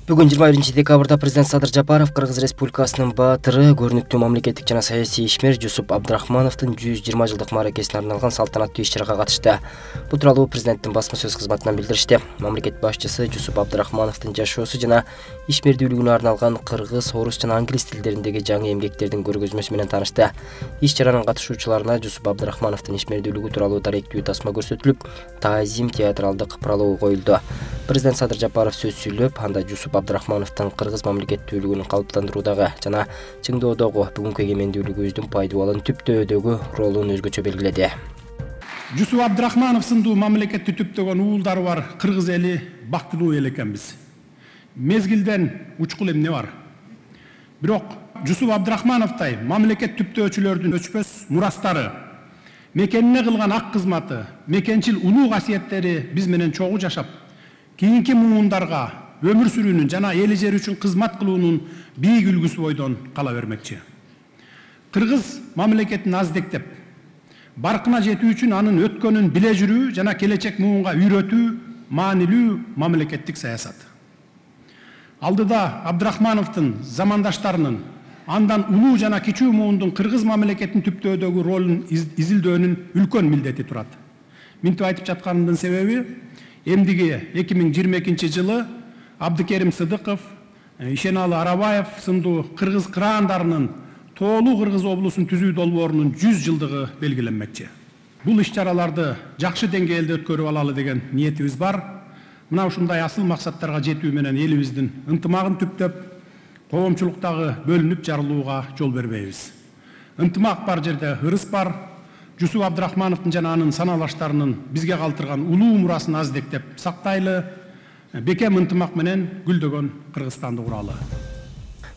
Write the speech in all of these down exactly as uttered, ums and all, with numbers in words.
Бүгүн жыйырма биринчи декабрда президент Садыр Жапаров Кыргыз Республикасынын баатыры, көрүнүктүү мамлекеттик жана саясий ишмер Жусуп Абдрахмановдун жүз жыйырма жылдык мааракесине арналган салтанаттуу иш-чарага катышты. Бул тууралуу президенттин басма сөз кызматынан билдиришти. Мамлекет башчысы Жусуп Абдрахмановдун жашоосу жана ишмердүүлүгүнө арналган кыргыз, орус жана англис тилдериндеги жаңы эмгектердин көргөзмөсү менен таанышты. Иш-чаранын катышуучуларына Жусуп Абдрахмановдун ишмердүүлүгү тууралуу даректүү тасма көрсөтүлүп, таазим театралдык прологу коюлду. Президент Садыр Жапаров сөз сүйлөп, анда Жусуп Абдрахмановдун кыргыз мамлекеттүүлүгүн калыптандыруудагы жана чыңдоодогу бүгүнкү эгемендүүлүгүбүздүн пайдубалын түптөөдөгү ролун өзгөчө белгиледи. Жусуп Абдрахманов сындуу мамлекетти түптөгөн уулдары бар кыргыз эли бактылуу эл экенбиз. Мезгилден учкул эмне бар. Бирок Жусуп Абдрахмановдай мамлекет түптөөчүлөрдүн өчпөс мурастары, мекенине кылган ак кызматы, мекенчил улуу касиеттери биз менен чогуу жашап, кийинки муундарга өмүр сүрүүнүн жана эли жери үчүн кызмат кылуунун бийик үлгүсү бойдон кала бермекчи. Кыргыз мамлекетин аздектеп, баркына жетүү үчүн анын өткөнүн биле жүрүү жана келечек муунга үйрөтүү маанилүү мамлекеттик саясат. Алдыда Абдрахмановдун замандаштарынын андан улуу жана кичүү муундун кыргыз мамлекетин түптөөдөгү ролун изилдөөнүн үлкөн милдети турат. Минтип айтып жатканымдын себеби, эмдиги эки миң жыйырма экинчи жылы Абдыкерим Сыдыков, Ишеналы Арабаев сындуу кыргыз кыраандарынын тоолуу кыргыз облусун түзүү долбоорунун жүз жылдыгы белгиленмекчи. Бул иш-чараларды жакшы деңгээлде өткөрүп алалы деген ниетибиз бар. Мына ушундай асыл максаттарга жетүү менен элибиздин ынтымагын түптөп, коомчулуктагы бөлүнүп жарылууга жол бербейбиз. Ынтымак бар жерде ырыс бар. Жусуп Абдрахмановдун жана анын саналаштарынын бизге калтырган улуу мурасын аздектеп сактайлы, бекем ынтымак менен гүлдөгөн Кыргызстанды куралы.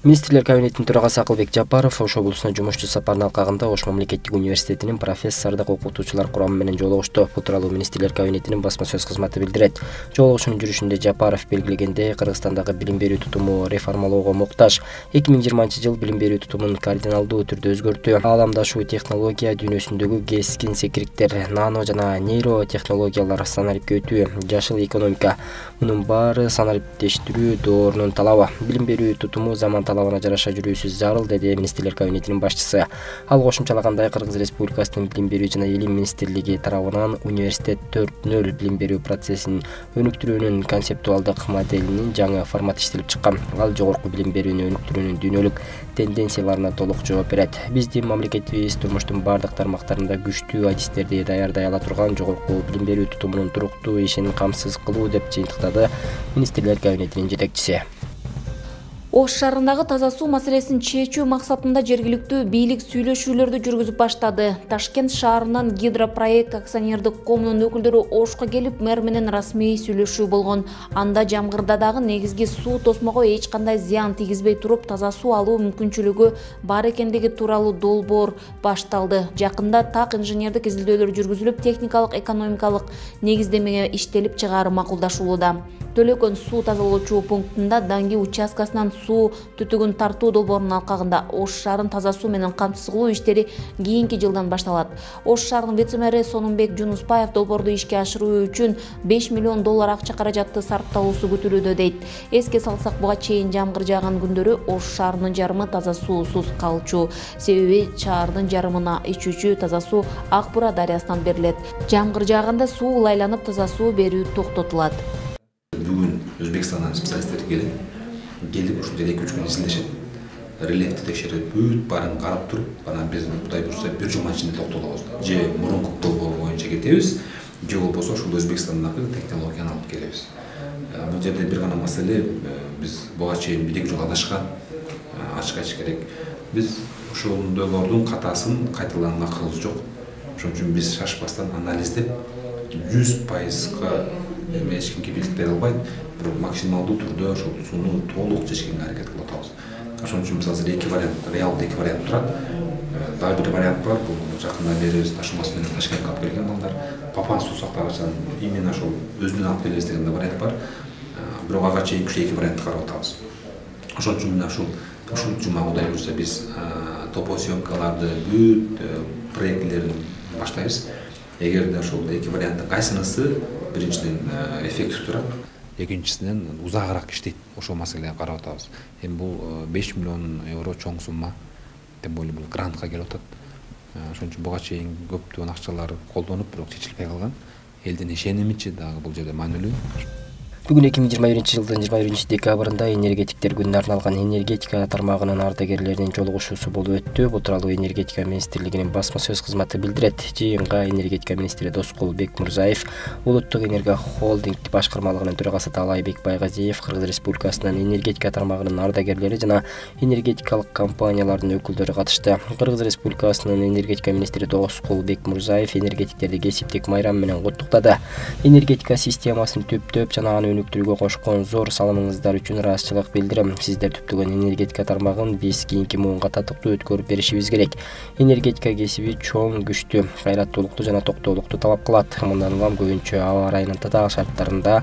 Министрлер кабинетинин төрагасы Акылбек Жапаров Ош облусуна жумушчу сапарына алкагында Ош мамлекеттик университетинин профессордук окутуучулар курамы менен жолугушту. Бул тууралуу Министрлер кабинетинин басма сөз кызматы билдирет. Жолугушуунун жүрүшүндө Жапаров белгилегендей, Кыргызстандагы билим берүү тутуму реформалоого муктаж. эки миң жыйырманчы жыл билим берүү тутумун кардиналдуу түрдө өзгөрттү. Ааламдашуу технология дүйнөсүндөгү кескин секириктер, нано жана нейро технологиялар, санариптке өтүү, жашыл экономика, мунун баары санариптештирүү доорунун талабы. Билим берүү тутуму заман талабына жараша жүрүүсү зарыл, деди Министрлер кабинетинин башчысы. Ал кошумчалагандай, Кыргыз Республикасынын билим берүү жана илим министрлиги тарабынан университет төрт нөл билим берүү процессин өнүктүрүүнүн концептуалдык моделинин жаңы форматы иштелип чыккан. Ал жогорку билим берүүнү өнүктүрүүнүн дүйнөлүк тенденцияларына толук жооп берет. Биздин мамлекетибиз турмуштун бардык тармактарында күчтүү адистерди даярдай ала турган жогорку билим берүү тутумунун туруктуу ишин камсыз кылуу, деп жыйынтыктады Министрлер кабинетинин жетекчиси. Ош шаарындагы таза суу маселесин чечүү максатында жергиликтүү бийлик сүйлөшүүлөрдү жүргүзүп баштады. Ташкент шаарынан Гидропроект акционердик коомунун өкүлдөрү Ошко келип, мэр менен расмий сүйлөшүү болгон. Анда Жамгырда дагы негизги суу тосмого эч кандай зыян тийгизбей туруп, таза суу алуу мүмкүнчүлүгү бар экендиги тууралуу долбоор башталды. Жакында так инженердик изилдөөлөр жүргүзүлүп, техникалык, экономикалык негиздемеге иштелип чыгаары макулдашылууда. Төлөкөн суу тазалоочу пунктунда Данги участкасынан суу түтүгүн тартуу долбоорунун алкагында Ош шаарын таза суу менен камсыз кылуу иштери кийинки жылдан башталат. Ош шаарынын вице-мэри Сонунбек Жунуспаев долбоорду ишке ашыруу үчүн беш миллион доллар акча каражатты сарпталуусу күтүлүүдө, дейт. Эске салсак, буга чейин жамгыр жааган күндөрү Ош шаарынын жарымы таза суусуз калчу. Себеби шаардын жарымына ичүүчү таза суу Ак Бура дарыясынан берилет. Жамгыр жааганда суу ылайланып, таза суу берүү токтотулат. Бүгүн Өзбекстандан специалисттер келет. Келип ушул жерде эки үч күн изилдешет. Рельефти текшерип, бүт баарын карап туруп, анан биз Кудай буйрса бир жума ичинде токтолобуз. Же мурунку долбоор боюнча кетебиз, же болбосо ушул Өзбекстандагы технологияны алып келебиз. Бул жерде бир гана маселе, биз буга чейин бир эки жолу адашкан, ачык айтыш керек. Биз ошондойлордун катасын кайталаганга акылыбыз жок. Ошон үчүн биз шашпастан анализдеп, жүз пайызга эч кимге билдик бере албайт, бирок максималдуу түрдө ошол сууну толук чечкенге аракет кылып атабыз. Ошон үчүн биз азыр эки вариант, реалдуу эки вариант турат. Дагы бир вариант бар, бул жакында беребиз ташымасы менен Ташкентке алып келген балдар. Папан суу сактагычан именно ошол өзүнөн алып келебиз деген вариант бар. Бирок ага чейин үч эки вариантты карап атабыз. Ошон үчүн мына ушул ушул жума Кудай буйрса биз топосъемкаларды, бүт проектилерин баштайбыз. Эгерде ошол эки варианттын кайсынысы биринчиден эффектив турат, экинчисинен узагыраак иштейт. Ошол маселени карап атабыз. Эми бул беш миллион евро чоң сумма. Тем более бул грантка келип атат. Ошон үчүн буга чейин көптөгөн акчалар колдонуп, бирок чечилбей калган. Элдин ишенимичи дагы бул жерде маанилүү. Бүгүн эки миң жыйырма биринчи жылдын жыйырма биринчи декабрында энергетиктер күнүнө арналган энергетика тармагынын ардагерлеринин жолугушуусу болуп өттү. Бул тууралуу энергетика министрлигинин басма сөз кызматы билдирет. Жыйынга энергетика министри Доскул Бекмурзаев, Улуттук энергия холдинг башкармалыгынын төрагасы Талайбек Байгазиев, Кыргыз Республикасынын энергетика тармагынын ардагерлери жана энергетикалык компаниялардын өкүлдөрү катышты. Кыргыз Республикасынын энергетика министри Доскул Бекмурзаев энергетиктерди кесиптик майрам менен куттуктады. Энергетика системасын түптөп жана аны өнүктүрүүгө кошкон зор салымыңыздар үчүн ыраазычылык билдирем. Сиздер түптөгөн энергетика тармагын биз кийинки муунга татыктуу өткөрүп беришибиз керек. Энергетика кесиби чоң, күчтүү, кайраттуулукту жана токтоолукту талап кылат. Мындан улам көбүнчө аба ырайынын татаал шарттарында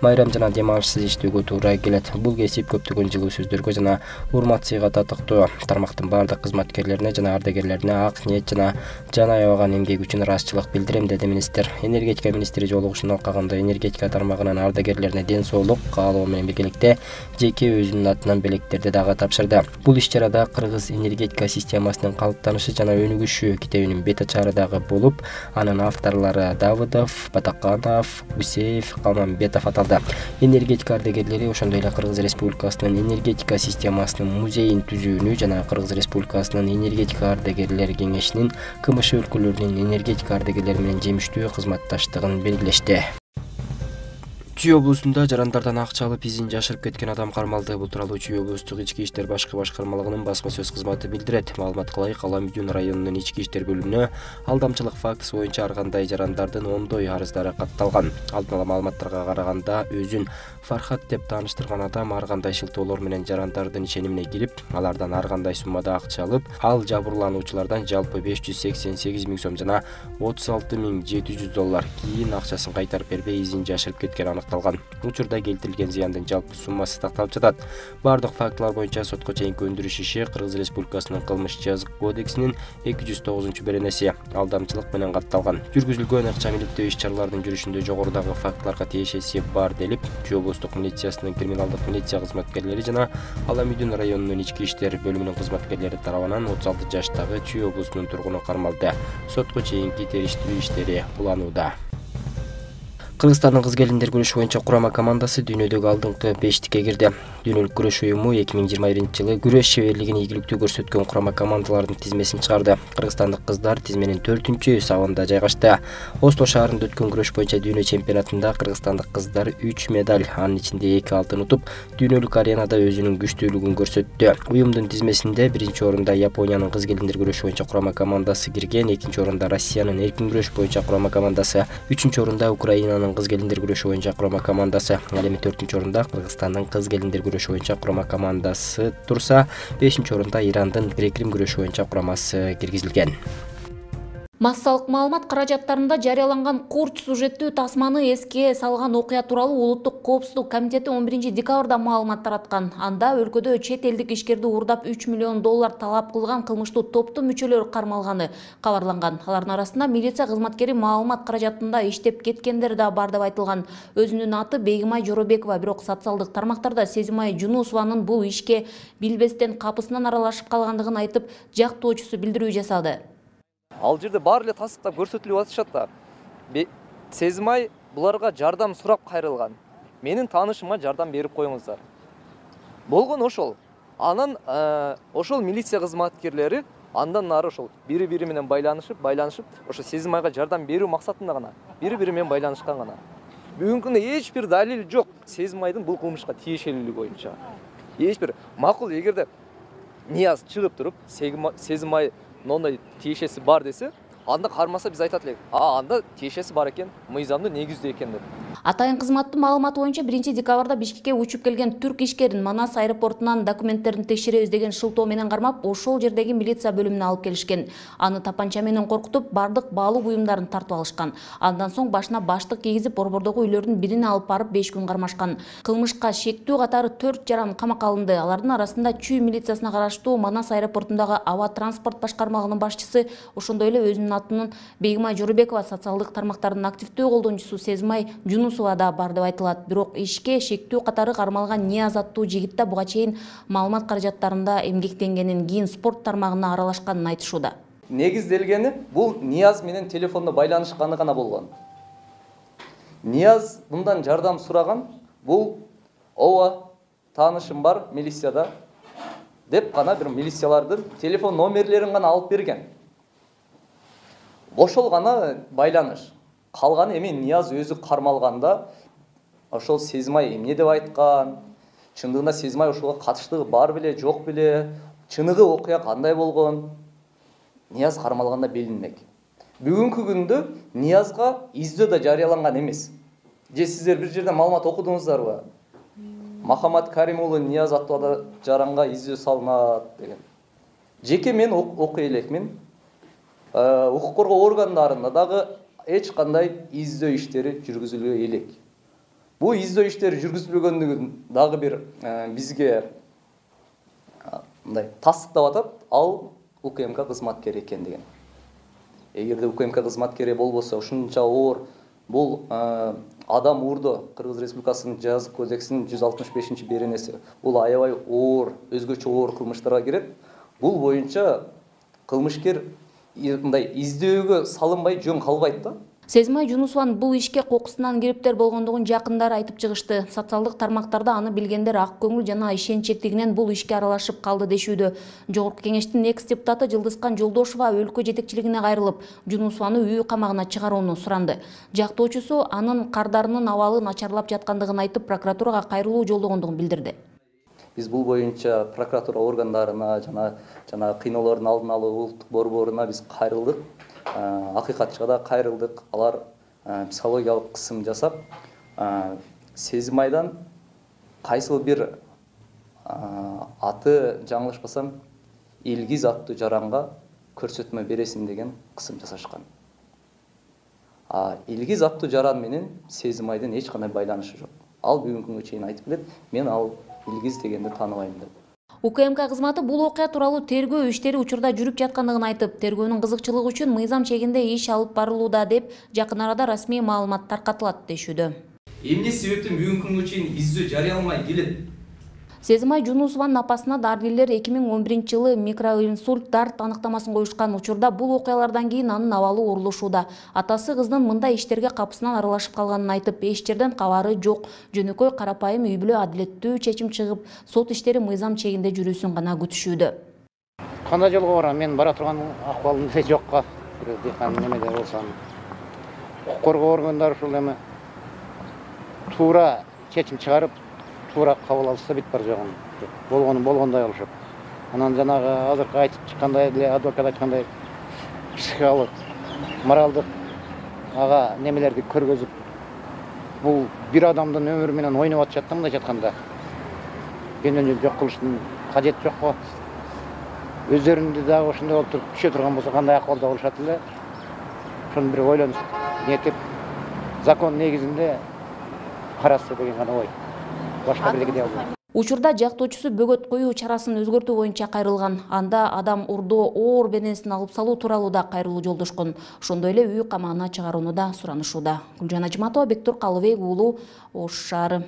майрам жана дем алышсыз иштөөгө туура келет. Бул кесип көптөгөн жылуу сөздөргө жана урмат сыйга татыктуу. Тармактын бардык кызматкерлерине жана ардагерлерине ак ниет жана жан аябаган эмгеги үчүн ыраазычылык билдирем, деди министр. Энергетика министри жолугушууну алкагында энергетика тармагынын ардагерлерине ден соолук каалоо менен биргеликте жеке өзүнүн атынан белектерди дагы тапшырды. Бул иш-чарада Кыргыз энергетика системасынын калыптанышы жана өнүгүшү китебинин бет ачары дагы болуп, анын авторлору Давыдов, Батаканов, Гусеев, Калмамбетов аталды. Энергетика ардагерлери ошондой эле Кыргыз Республикасынын энергетика системасынын музейин түзүүнү жана Кыргыз Республикасынын энергетика ардагерлер кеңешинин КМШ өлкөлөрүнүн энергетика ардагерлери менен жемиштүү кызматташтыгын белгилешти. Чүй облусунда жарандардан акча алып изин жашырып кеткен адам кармалды. Бул тууралуу Чүй облустук ички иштер башкы башкармалыгынын басма сөз кызматы билдирет. Маалыматка ылайык, Ала Мүдүн районунун ички иштер бөлүмүнө алдамчылык фактысы боюнча ар кандай жарандардын ондой арыздары катталган. Алдын ала маалыматтарга караганда, өзүн Фархат деп тааныштырган адам ар кандай шылтоолор менен жарандардын ишенимине кирип, алардан ар кандай суммада акча алып, ал жабырлануучулардан жалпы беш жүз сексен сегиз миң сом жана отуз алты миң жети жүз доллар кийин акчасын кайтарып бербей изин жашырып кеткен аныкталган. Учурда келтирилген зыяндын жалпы суммасы такталып жатат. Бардык фактылар боюнча сотко чейинки өндүрүш иши Кыргыз Республикасынын кылмыш жазык кодексинин эки жүз тогузунчу беренеси алдамчылык менен катталган. Жүргүзүлгөн акча иликтөө иш-чаралардын жүрүшүндө жогорудагы фактыларга тиешеси бар делип, Чүй облустук милициясынын криминалдык милиция кызматкерлери жана Ала Мүдүн районунун ички иштер бөлүмүнүн кызматкерлери тарабынан отуз алты жаштагы Чүй облусунун тургуну кармалды. Сотко чейинки териштирүү иштери уланууда. Кыргызстандын кыз-келиндер күрөшү боюнча курама командасы дүйнөдөгү алдыңкы бештикке кирди. Дүйнөлүк күрөш уюму эки миң жыйырма биринчи жылы күрөш шеберлигин ийгиликтүү көрсөткөн курама командалардын тизмесин чыгарды. Кыргызстандык кыздар тизменин төртүнчү сабында жайгашты. Осло шаарында өткөн күрөш боюнча дүйнө чемпионатында кыргызстандык кыздар үч медаль, анын ичинде эки алтын утуп, дүйнөлүк аренада өзүнүн күчтүүлүгүн көрсөттү. Уюмдун тизмесинде биринчи орунда Япониянын кыз-келиндер күрөшү боюнча курама командасы кирген, экинчи орунда Россиянын эркин күрөш боюнча курама командасы, үчүнчү орунда Украинанын кыз-келиндер күрөшү боюнча курама командасы, ал эми төртүнчү орунда Кыргызстандын кыз-келиндер күрөшү боюнча курама командасы турса, бешинчи орунда Ирандын грек-рим күрөшү боюнча курамасы киргизилген. Массалык маалымат каражаттарында жарыяланган курч сюжеттүү тасманы эске салган окуя тууралуу Улуттук коопсуздук комитети он биринчи декабрда маалымат тараткан. Анда өлкөдө чет элдик ишкерди уурдап үч миллион доллар талап кылган кылмыштуу топтун мүчөлөрү кармалганы кабарланган. Алардын арасында милиция кызматкери маалымат каражатында иштеп кеткендер да бар деп айтылган. Өзүнүн аты Бегимай Жоробекова, бирок социалдык тармактарда Сезимай Жунусованын бул ишке билбестен капысынан аралашып калгандыгын айтып, жактоочусу билдирүү жасады. Ал жерде баары эле тастыктап көрсөтүлүп атышат да. Сезимай буларга жардам сурап кайрылган. Менин таанышыма жардам берип коюңуздар. Болгон ошол. Анан ошол милиция кызматкерлери андан нары ошол бири-бири менен байланышып, байланышып, ошо Сезимайга жардам берүү максатында гана бири-бири менен байланышкан гана. Бүгүнкү күндө эч бир далил жок Сезимайдын бул кылмышка тиешелүүлүгү боюнча. Эч бир макул, эгерде Нияз чыгып туруп Сезимай ондай тиешеси бар десе, анда кармаса биз айтат элек. А, анда тиешеси бар экен, мыйзамдуу негиздүү экен деп. Атайын кызматтын маалыматы боюнча биринчи декабрда Бишкекке учуп келген түрк ишкерин Манас аэропортунан документтерин текшеребиз деген шылтоо менен кармап, ошол жердеги милиция бөлүмүнө алып келишкен. Аны тапанча менен коркутуп, бардык баалуу буюмдарын тартып алышкан. Андан соң башына баштык кийгизип, борбордогу үйлөрдүн бирине алып барып беш күн кармашкан. Кылмышка шектүү катары төрт жаран камакка алынды. Алардын арасында Чүй милициясына караштуу Манас аэропортундагы аба транспорт башкармалыгынын башчысы, ошондой эле өзүнүн атынын Бегимай Жоробекова, социалдык тармактардын активдүү колдонуучусу Сезимай Жунусова Жунусова да бар деп айтылат. Бирок ишке шектүү катары кармалган Нияз аттуу жигит да буга чейин маалымат каражаттарында эмгектенгенин, кийин спорт тармагына аралашканын айтышууда. Негизделгени бул Нияз менен телефондо байланышканы гана болгон. Нияз мындан жардам сураган, бул ооба таанышым бар милицияда деп гана бир милициялардын телефон номерлерин гана алып берген. Ошол гана байланыш. Калганы эми Нияз өзү кармалганда ошол Сезимай эмне деп айткан, чындыгында Сезимай ошого катыштыгы бар беле, жок беле, чыныгы окуя кандай болгон, Нияз кармалганда билинмек. Бүгүнкү күндө Ниязга издөө да жарыяланган эмес. Же сиздер бир жерде маалымат окудуңуздарбы? Махамат Карим уулу Нияз аттуу жаранга издөө салынат деген. Жеке мен окуй элекмин. Укук коргоо органдарында дагы эч кандай издөө иштери жүргүзүлбөй элек. Бул издөө иштери жүргүзүлбөгөндүгүн дагы бир бизге мындай тастыктап атат, ал УКМК кызматкери экен деген. Эгерде УКМК кызматкери болбосо, ушунча оор бул адам уурдоо Кыргыз Республикасынын жазык кодексинин жүз алтымыш бешинчи беренеси. Бул аябай оор, өзгөчө оор кылмыштарга кирет. Бул боюнча кылмышкер мындай издөөгө салынбай жөн калбайт да. Сезимай Жунусованын бул ишке кокусунан кириптер болгондугун жакындары айтып чыгышты. Социалдык тармактарда аны билгендер ак көңүл жана ишенчектигинен бул ишке аралашып калды дешүүдө. Жогорку кеңештин экс депутаты Жылдызкан Жолдошова өлкө жетекчилигине кайрылып, Жунусованы үй камагына чыгарууну суранды. Жактоочусу анын кардарынын абалы начарлап жаткандыгын айтып, прокуратурага кайрылуу жолдогондугун билдирди. Биз бул боюнча прокуратура органдарына жана жана кыйноолордун алдын алуу улуттук борборуна биз кайрылдык. Акыйкатчыга да кайрылдык. Алар психологиялык кысым жасап, Сезимайдан кайсыл бир аты жаңылышпасам Илгиз аттуу жаранга көрсөтмө бересиң деген кысым жасашкан. Илгиз аттуу жаран менен Сезимайдын эч кандай байланышы жок. Ал бүгүнкү күнгө чейин айтып келет, мен ал Илгиз дегенди тааныбайм деп. УКМК кызматы бул окуя тууралуу тергөө иштери учурда жүрүп жаткандыгын айтып, тергөөнүн кызыкчылыгы үчүн мыйзам чегинде иш алып барылууда деп жакын арада расмий маалымат таркатылат дешүүдө. Эмне себептен бүгүнкү күнгө чейин издөө жарыяламай келет? Сезимай Жунусованын апасына дарыгерлер эки миң он биринчи жылы микроинсульт дарт аныктамасын коюшкан. Учурда бул окуялардан кийин анын абалы оорулушууда. Атасы кыздын мындай иштерге капысынан аралашып калганын айтып, эч жерден кабары жок. Жөнөкөй карапайым үй бүлө адилеттүү чечим чыгып, сот иштери мыйзам чегинде жүрүүсүн гана күтүшүүдө. Кандай жолго барам? Мен бара турган акыбалымда жокко. Дыйкан немеде болсам, укук коргоо органдары ушул эме туура чечим чыгарып, туура кабыл алса бит бар жогун. Болгону болгондой болушат. Анан жанагы азыркы айтып чыккандай эле адвокат айткандай психикалык, моралдык ага немелерди көргөзүп, бул бир адамдын өмүрү менен ойноп атышат да, мындай жатканда. Кенен жок кылыштын кажети жок го. Өздөрүндө дагы ошондой болуп туруп түшө турган болсо кандай акыбалда болушат эле. Ошону бир ойлонуп нетип, закон негизинде караса деген гана ой. Башка бирдеке дей албайм. Учурда жактоочусу бөгөт коюу чарасын өзгөртүү боюнча кайрылган. Анда адам урдоо оор беренесин алып салуу тууралуу да кайрылуу жолдошкон. Ошондой эле үй камагына чыгарууну да суранышууда. Гүлжан Ажматова, Бектур Калыбек уулу, Ош шаары.